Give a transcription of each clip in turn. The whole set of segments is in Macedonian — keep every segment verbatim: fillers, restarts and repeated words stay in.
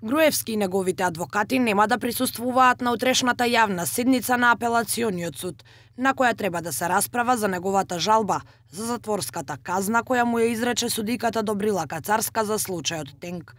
Груевски и неговите адвокати нема да присуствуваат на утрешната јавна седница на апелациониот суд, на која треба да се расправа за неговата жалба за затворската казна која му ја изрече судиката Добрила Кацарска за случајот Тенк.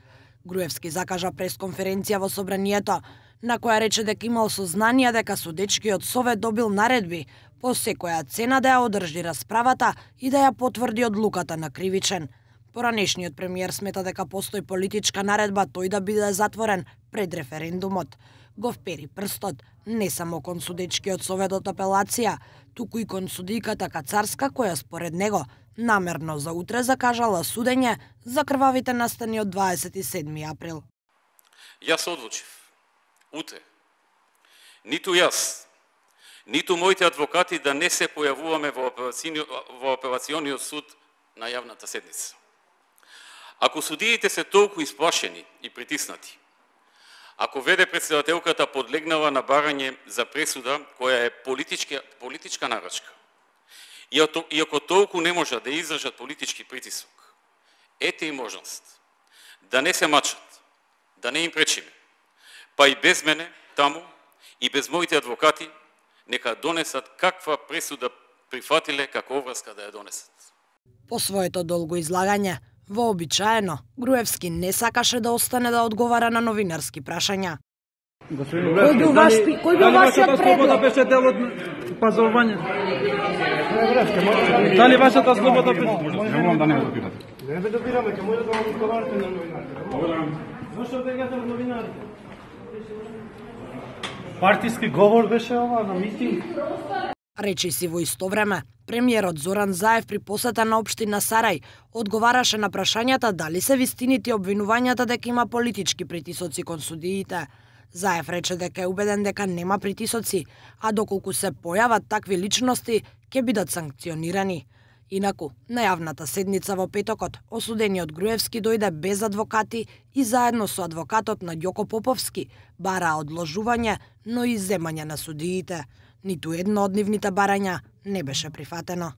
Груевски закажа пресконференција во собранието, на која рече дека имал сознание дека судечкиот совет добил наредби по секоја цена да ја одржи расправата и да ја потврди одлуката на кривичен. Поранешниот премиер смета дека постои политичка наредба тој да биде затворен пред референдумот. Го впери прстот не само кон судечкиот совет од апелација, туку и кон судиката Кацарска која според него намерно за утре закажала судење за крвавите настани од дваесет и седми април. Јас одлучив утре ниту јас, ниту моите адвокати да не се појавуваме во апелациониот, во апелациониот суд на јавната седница. Ако судиите се толку исплашени и притиснати, ако веде председателката подлегнала на барање за пресуда која е политичка, политичка нарачка, и ако толку не можат да издржат политички притисок, ете и можност да не се мачат, да не им пречиме, па и без мене таму и без моите адвокати нека донесат каква пресуда прифатиле како обврска да ја донесат. По своето долго излагање, вообичаено, Груевски не сакаше да остане да одговара на новинарски прашања. Кој бил ваш кој бил вашиот слобода предлог? беше дел од пазарување? Дали вашата слобода беше? Не можам да не го питате. Не бе добираме, ке може да вам одговарате на новинарите. Зошто бегате од новинарите? Партиски говор беше ова на митинг? Речи си во исто време, премиерот Зоран Заев при посета на општина Сарај одговараше на прашањата дали се вистините обвинувањата дека има политички притисоци кон судиите. Заев рече дека е убеден дека нема притисоци, а доколку се појават такви личности, ќе бидат санкционирани. Инаку, на јавната седница во петокот, осудениот Груевски дојде без адвокати и заедно со адвокатот на Ѓоко Поповски бараа одложување, но и земање на судиите. Ниту едно од нивните барања не беше прифатено.